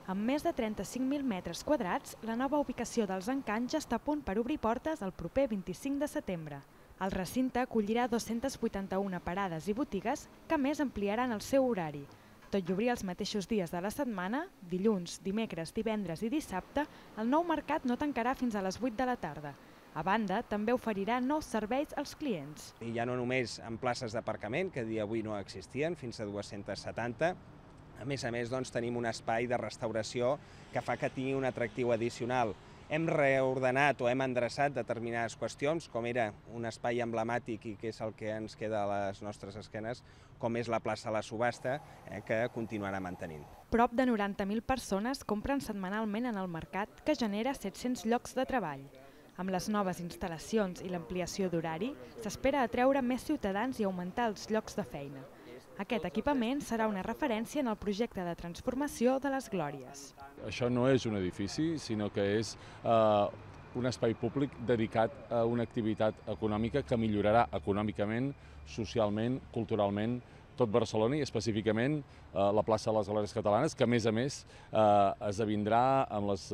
Amb més de 35.000 metres quadrats, la nova ubicació dels Encants ja està a punt per obrir portes el proper 25 de setembre. El recinte acollirà 281 parades i botigues que a més ampliaran el seu horari. Tot i obrir els mateixos dies de la setmana, dilluns, dimecres, divendres i dissabte, el nou mercat no tancarà fins a les 8 de la tarda. A banda, també oferirà nous serveis als clients. I ja no només en places d'aparcament, que a dia d'avui no existien, fins a 270. A més, tenim un espai de restauració que fa que tingui un atractiu addicional. Hem reordenat o hem endreçat determinades qüestions, com era un espai emblemàtic i que és el que ens queda a les nostres esquenes, com és la plaça de la subhasta, que continuarà mantenint. Prop de 90.000 persones compren setmanalment en el mercat, que genera 700 llocs de treball. Amb les noves instal·lacions i l'ampliació d'horari, s'espera atreure més ciutadans i augmentar els llocs de feina. Aquest equipament serà una referència en el projecte de transformació de les Glòries. Això no és un edifici, sinó que és un espai públic dedicat a una activitat econòmica que millorarà econòmicament, socialment, culturalment, tot Barcelona i específicament la plaça de les Glòries Catalanes, que a més esdevindrà amb les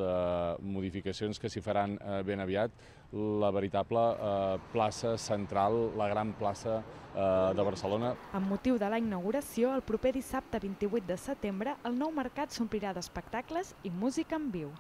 modificacions que s'hi faran ben aviat la veritable plaça central, la gran plaça de Barcelona. Amb motiu de la inauguració, el proper dissabte 28 de setembre, el nou mercat s'omplirà d'espectacles i música en viu.